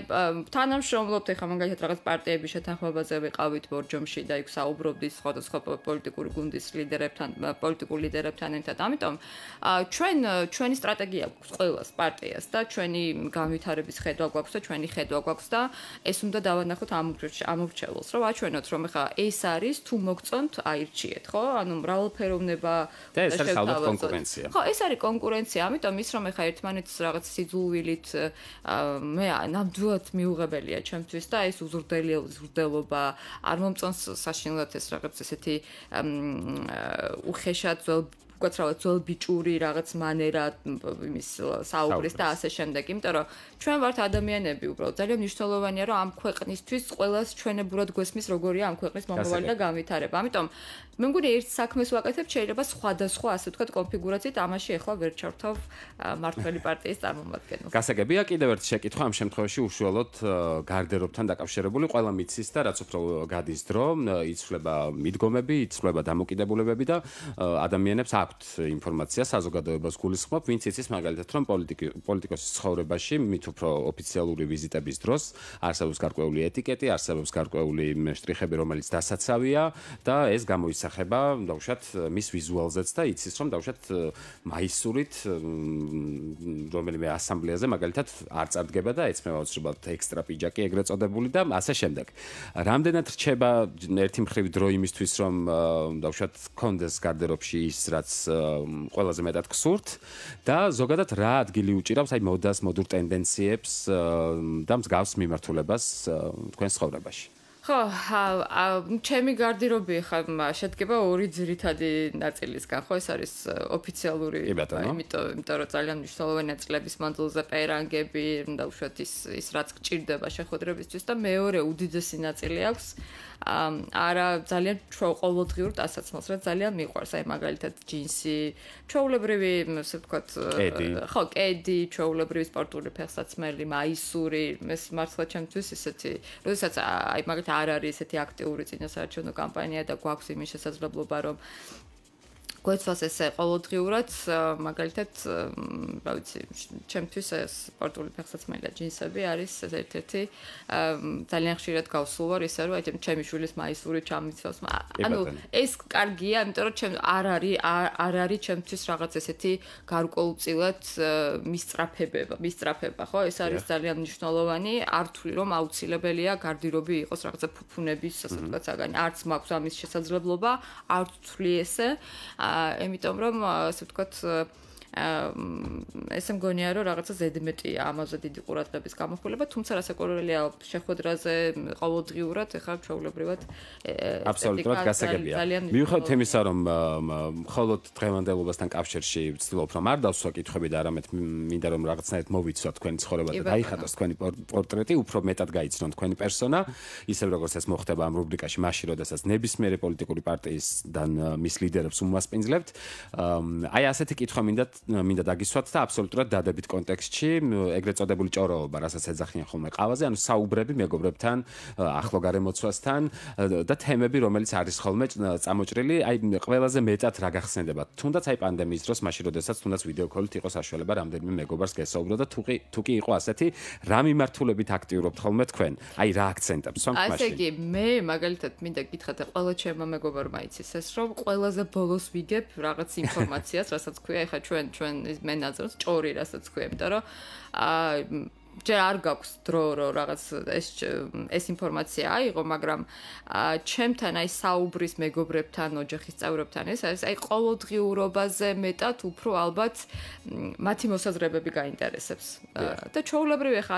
თანამშრომლობთ ახლა მაგალითად რაღაც პარტიების შეთანხმებაზე ვიყავით ბორჯომში და იქ საუბრობდით სხვადასხვა პოლიტიკური გუნდის ლიდერებთან, პოლიტიკურ ლიდერებთან ერთად. ამიტომ ჩვენი სტრატეგია გვაქვს ყველას პარტიას და ჩვენი განვითარების ხედვა გვაქვს და ჩვენი ხედვა გვაქვს და ეს უნდა დავანახოთ ამორჩეულს, რომ აჩვენოთ, რომ ეხლა ეს არის თუ მოგწონთ, აირჩიეთ, ხო? ანუ მრავალფეროვნება და ეს არის ალბათ კონკურენცია. ხო, ეს არის კონკურენცია, ამიტომ ის რომ ეხლა ერთმანეთს რაღაც სიძულვილით მე ნამდვილად მიუღებელია ჩემთვის და ეს უზრდელობა არ მომწონს საშინლად ეს რაღაც ესეთი უხეშად გვაცხადოთ ბიჭური რაღაც მანერა იმის საუბრის და ასე შემდეგ, იმიტომ რომ ჩვენ ვართ ადამიანები უბრალოდ ძალიან მნიშვნელოვანია რომ ამ ქვეყნისთვის ყველას ჩვენებურად გვესმის როგორია ამ ქვეყნის მომავალი და განვითარება. ამიტომ მე მგონი ერთ საქმეს ვაკეთებ, შეიძლება სხვადასხვა ასე ვთქვათ კონფიგურაციით, ამაში ახლა ვერ ჩავთავ მართველი პარტიის წარმომადგენელს. გასაგებია კიდევ ერთი შეკითხვა ამ შემთხვევაში უშუალოდ გარდერობთან დაკავშირებული, ყველა მიცის და რაც უფრო გადის დრო, იცვლება მიდგომები, იცვლება დამოკიდებულებები და ადამიანებს აქვთ ინფორმაცია საზოგადოებას გულისხმობ, ვინც იცის მაგალითად რომ პოლიტიკოსის ცხოვრებაში მით უფრო ოფიციალური ვიზიტების დროს არსებობს გარკვეული ეტიკეტი, არსებობს გარკვეული შტრიხები, რომელიც დასაცავია და ეს გამოისახება დავუშვათ მის ვიზუალზეც და იცის რომ დავუშვათ მაისურით რომელიმე ასამბლეაზე მაგალითად არ წარდგება და ეცმება უცებად ექსტრა პიჯაკი ეგრეთ წოდებული და ასე შემდეგ. რამდენად რჩება ერთი მხრივ დრო იმისთვის რომ დავუშვათ კონდეს გარდერობში ის რაც ყველაზე მეტად გსურთ და ზოგადად რა ადგილი უჭირავს აი მოდას, მოდურ ტენდენციებს და მსგავს მიმართულებას თქვენ ცხოვრებაში. ხო, ჩემი გარდერობი ხა შედგება ორი ძირითადი ნაწილისგან, ხო, ეს არის ოფიციალური, იმიტომ რომ ძალიან მნიშვნელოვანი ნაწილების მანძილზე პერანგები, დავუშვათ ის რაც გჭირდება შეხვედრებისთვის და მეორე უდიდესი ნაწილი აქვს არა ძალიან ყოველდღიურ ტანსაცმელს, რაც ძალიან მიყვარს, აი მაგალითად ჯინსი, ჩვეულებრივი, ასე ვთქვათ, ხო, კედი, ჩვეულებრივი სპორტული ფეხსაცმელი, მაისური, ეს მართლა ჩემთვის ისეთი, როდესაც აი მაგალითად არ არის ესეთი აქტიური წინასაარჩევნო კამპანია და გვაქვს იმის შესაძლებლობა, რომ გვეცვას ესე ყოველდღიურად, მაგალითად, რა ვიცი, ჩემთვის სპორტული ფეხსაცმელი და ჯინსები არის ერთ-ერთი ძალიან ხშირად გავსულ ვარ ისე, რომ აი ჩემი შვილის მაისური ჩამიცავს. ანუ ეს კარგია, იმიტომ რომ ჩემ არ არის ჩემთვის რაღაც ესეთი გარკვეულწილად მისწრაფება, ხო? ეს არის ძალიან მნიშვნელოვანი, არ ვთვლი რომ აუცილებელია გარდერობი იყოს რაღაცა ფუფუნების, ასე ვთქვათ, საგანი. არც მაქვს ამის შესაძლებლობა, არ ვთვლი ესე. Ემიტომ რომ ასე ვთქვათ ესე მგონია რომ რაღაცა ზედმეტია ამაზე დიდი ყურადღების გამოხილება, თუმცა რასაკვირველია შეხვედრაზე ყოველდღიურად ეხლა ჩვეულებრივად აბსოლუტურად გასაგებია. მიუხედავად იმისა, რომ მხოლოდ დღევანდელობასთან კავშირში ვცდილობ რომ არ დავსვა კითხვები და არამედ მინდა რომ რაღაცნაირად მოვიცვა თქვენი ცხოვრება და დაიხატოს თქვენი პორტრეტი, უფრო მეტად გაიცნონ თქვენი პერსონა, ისევ როგორც ეს მოხდება ამ რუბრიკაში, მაშინ როდესაც ნებისმიერი პოლიტიკური პარტიისგან მის ლიდერებს უმასპინძლებთ. აი ასეთი კითხვა მინდა დაგისვათ და აბსოლუტურად დადებით კონტექსტში, ეგრეთ წოდებული ჭოროობა, რასაც ეძახიან ხოლმე ყავაზე, ანუ საუბრები მეგობრებთან, ახლო გარემოცვასთან და თემები, რომელიც არის ხოლმე წამოჭრილი, აი ყველაზე მეტად რა გახსენდება. თუნდაც აი პანდემიის დროს, მაშინ როდესაც თუნდაც ვიდეო კოლით იყო საშუალება რამდენიმე მეგობარს გესაუბრო და თუ კი იყო ასეთი, რა მიმართულებით აქტიურობთ ხოლმე თქვენ? აი რა აქცენტებს ვამთ მაშინ? ასე იგი, მე მაგალითად მინდა გითხრათ და ყველა ჩემმა მეგობარმა იცის ეს, რომ ყველაზე ბოლოს ვიგებ რაღაც ინფორმაციას, რასაც ქვია, ეხლა ჩვენ მე ნაძროს ჭორი, რასაც ქვია, იმიტომ რომ ჯერ არ გაქვს დრო რომ რაღაც ეს ინფორმაცია აიღო, მაგრამ ჩემთან აი საუბრის მეგობრებთან, ოჯახის წევრებთან ეს არის აი ყოველდღიურობაზე მეტად უფრო ალბათ მათი მოსაზრებები გაინტერესებს. და ჩვეულებრივი ხა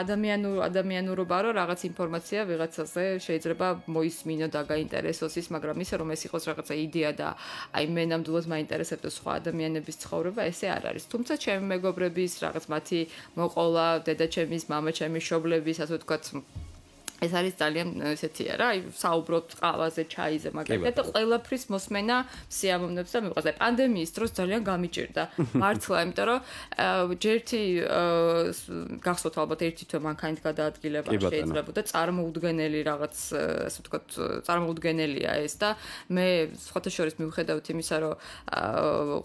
ადამიანურობა რომ რაღაც ინფორმაცია ვიღაცაზე შეიძლება მოისმინო და გაინტერესოს ის, მაგრამ ისე რომ ეს იყოს რაღაცა იდეა და აი მე ნამდვილად მაინტერესებდეს სხვა ადამიანების ცხოვრება, ესე არ არის. თუმცა ჩემი მეგობრების რაღაც მათი მოყოლა, დედაჩემის мама ჩემი შობლების, ასე ვთქვათ, ეს არის ძალიან ესეთია რა, აი საუბრობთ ყავაზე, ჩაიზე, მაგალითად და ყველაფრის მოსმენა სიამოვნებს და მიყვარს. პანდემიის დროს ძალიან გამიჭირდა მართლა, იმიტომ რომ ჯერთი გახსოვთ ალბათ ერთი თვე მანქანით გადაადგილება შეიძლება და წარმოუდგენელი რაღაც, ასე ვთქვათ, წარმოუდგენელია ეს და მე სხვათა შორის მიუხედავთ იმისა, რომ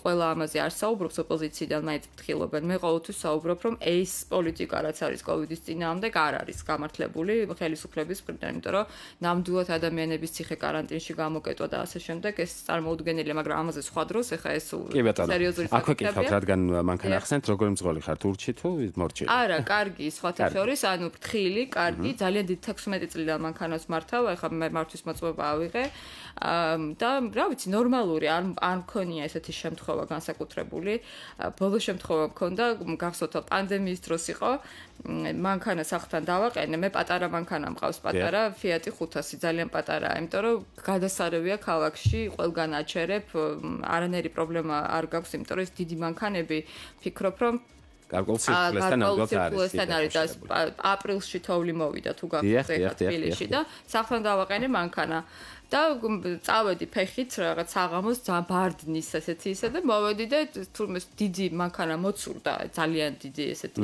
ყველა ამაზე არ საუბრობს ოპოზიციიდან, მაინც ფრთხილობენ. მე ყოველთვის საუბრობ, რომ ეს პოლიტიკა რაც არის კოვიდის წინააღმდეგ არ არის გამართლებული ხელისუფლების მხრიდან, იმიტომ რომ ნამდვილად ადამიანების ციხე კარანტინში გამოკეტვა და ასე შემდეგ ეს წარმოუდგენელია, მაგრამ ამაზე სხვა დროს ეხა ეს სერიოზული საკითხია. აქვე კითხავთ, რადგან მანქანა ახსენეთ, როგორი მძღოლი ხართ, ურჩი თუ მორჩილი? არა, კარგი, სხვათა შორის, ანუ ფრთხილი, კარგი, ძალიან დიდი 16 წლიდან მანქანას მართავ, ეხა მე მართვის მოწვევა ავიღე. და რა ვიცი, ნორმალური არ მქონია ესეთი შემთხვევა განსაკუთრებული. ბოლო შემთხვევა მქონდა, გახსოვთ, პანდემიის დროს იყო, მანქანა სახლთან დავაყენე, მე პატარა მანქანა მყავს, პატარა Fiat 500, ძალიან პატარაა, იმიტომ რომ გადასარევია ქალაქში, ყველგან აჩერებ, არანაირი პრობლემა არ გაქვს, იმიტომ რომ ეს დიდი მანქანები ფიქრობ, რომ გარკვეულ სირკულესთან არის და აპრილში თოვლი მოვიდა თუ გახსოვთ თბილისში და სახლთან დავაყენე მანქანა. და წავედი ფეხით რაღაც საღამოს ბარდნის ესეთი ისე და მოვედი და თურმე დიდი მანქანა მოცურდა, ძალიან დიდი ესეთი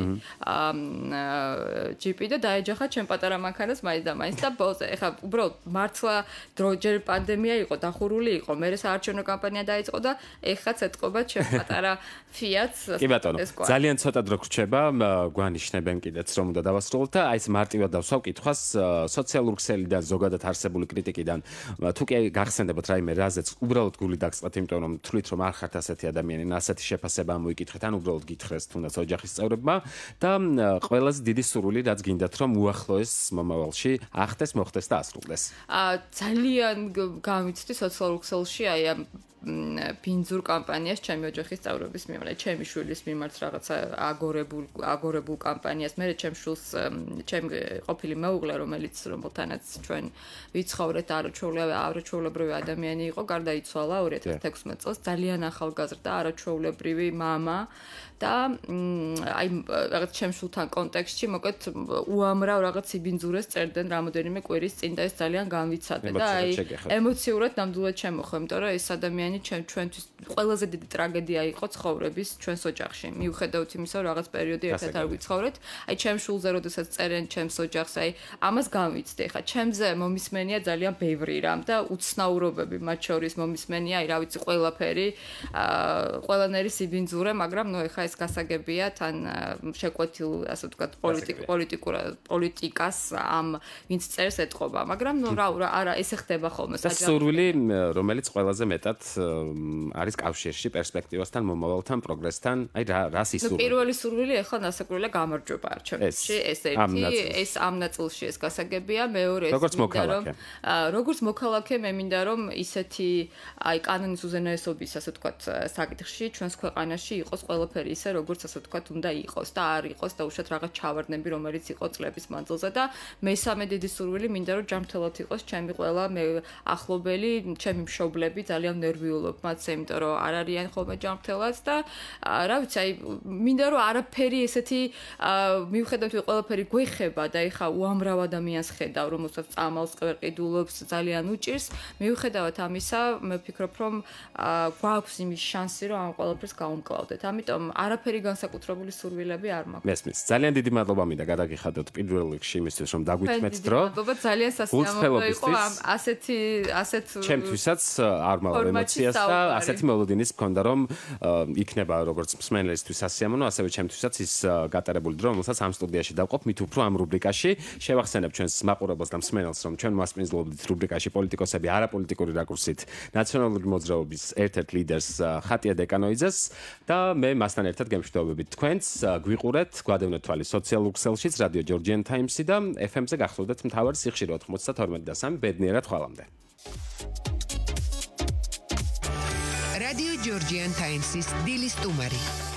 ჯიპი და დაეჯახა ჩემ პატარა მანქანას მაინც და მაინც და ბოლოს ეხა უბრალოდ მართლა ჯერ პანდემია იყო, დახურული იყო, მე საარჩევნო კამპანია დაიწყო და ეხაც ეთყობა ჩემ პატარა Fiat-ს. კი ბატონო, ძალიან ცოტა დრო გრჩება, გვანიშნებენ კიდეც რომ უნდა დავასრულოთ და აი ეს მარტივად დავსვავ კითხვას სოციალურ ქსელიდან, ზოგადად არსებული კრიტიკიდან თუ კი გახსენდებათ რაიმე რაზეც უბრალოდ გული დაგწყეთ, იმიტომ რომ თვლით რომ არ ხართ ასეთი ადამიანი, ასეთი შეფასება მოიკითხეთ, ან უბრალოდ გითხრეს თუნდაც ოჯახის წევრებმა და ყველაზე დიდი სურვილი რაც გინდათ რომ უახლოეს მომავალში ახდეს, მოხდეს და ასრულდეს. ძალიან გამიცდი სოციალურ ქსელში აი ამ ბინძურ კამპანიას ჩემი ოჯახის წევრების მიმართ, ჩემი შვილის მიმართ რაღაცა აგორებულ კამპანიას, მე ჩემ შვილს, ჩემი ყოფილი მეუღლე, რომელიც რომელთანაც ჩვენ ვიცხოვრეთ, არაჩვეულებრივი ადამიანი იყო, გარდაიცვალა 2016 წელს, ძალიან ახალგაზრდა, არაჩვეულებრივი მამა და აი რაღაც ჩემ შვილთან კონტექსტში მოკეთ უამრავ რაღაც იბინძურეს წერდნენ რამოდენიმე კვირის წინ და ეს ძალიან განვიცადე და აი ემოციურად ნამდვილად შემოხვე, იმიტომ რომ ეს ადამიანი ჩვენთვის ყველაზე დიდი ტრაგედია იყო ცხოვრების ჩვენს ოჯახში. მიუხედავთ იმისა, რომ რაღაც პერიოდი ერთად არ ვიცხოვრეთ, აი ჩემ შულზე როდესაც წერენ ჩემს ოჯახს, აი ამას განვიცდი. ხა ჩემზე მომისმენია ძალიან ბევრი რამ და უცნაურობები, მათ შორის მომისმენია, აი რა ვიცი, ყველაფერი, ყველანაირი სიბინძურე, მაგრამ ნუ ხა ეს გასაგებია თან შეკვეთილ, ასე ვთქვათ, პოლიტიკას ამ ვინც წერს ეთყობა, მაგრამ ნუ არა, ესე ხდება ხოლმე საჯარო. სურვილი, რომელიც ყველაზე მეტად არის კავშირში პერსპექტივასთან, მომავალთან, პროგრესთან, აი რას ისურვებთ? პირველი სურვილი ახლა ნასაკურველია გამარჯვება არჩევნებში, ეს ერთი, ეს ამ ნაწილში ეს გასაგებია, მეორე ის როგორც მოქალაქე. როგორც მოქალაქე მე მინდა რომ ისეთი აი კანონის უზენაესობის ასე ვთქვათ საკითხში ჩვენს ქვეყანაში იყოს ყველაფერი ისე როგორც ასე ვთქვათ უნდა იყოს და არ იყოს და უშუალოდ რაღაც ჩავარდნები რომელიც იყო წლების მანძილზე და მესამე დიდი სურვილი მინდა რომ ჯანმრთელად იყოს ჩემი ყველა მე ახლობელი ჩემი მშობლები ძალიან ნერვიულობ მათზე იმიტომ რომ არ არიან ხოლმე ჯანმრთელად და რა ვიცი აი მინდა რომ არაფერი ესეთი მივხვდეთ რომ ყველაფერი გვეხება და ეხა უამრავ ადამიანს ხედავ რომელსაც წამალს ყერყიდულობს ძალიან უჭირს მივხვდეთ ამისა მე ვფიქრობ რომ გვაქვს იმის შანსი რომ ამ ყველაფერს გავუმკლავდეთ ამიტომ არაფერი განსაკუთრებული სურვილები არ მაქვს მესმის ძალიან დიდი მადლობა მინდა გადაგიხადოთ პირველ რიგში იმისთვის რომ დაგვიწმეთ დრო მადლობა ძალიან სასიამოვნო იყო ასეთ ჩემთვისაც არ მავალ ემოციას და ასეთი მოლოდინის მქონდა რომ იქნება როგორც მსმენელისთვის სასიამოვნო ასევე ჩემთვისაც ის გატარებული დრო რომელსაც ამ სტუდიაში დავყოფ მით უფრო ამ რუბრიკაში შევახსენებ ჩვენს მაყურებელს და მსმენელს რომ ჩვენ მასპინძლობთ რუბრიკაში პოლიტიკოსები არაპოლიტიკური რაკურსით ნაციონალური მოძრაობის ერთ-ერთ ლიდერს ხატია დეკანოიძეს და მე მასთან ერთად გემშვიდობებით თქვენს გვიყურეთ გვადევნეთ თვალი სოციალურ ქსელშიც რადიო ჯორჯიან ტაიმსი და FM-ზე გახსოვდეთ მთავარი სიხშირე 92 და 3 ბედნიერად ხვალამდე რადიო ჯორჯიან ტაიმსის დილის სტუმარი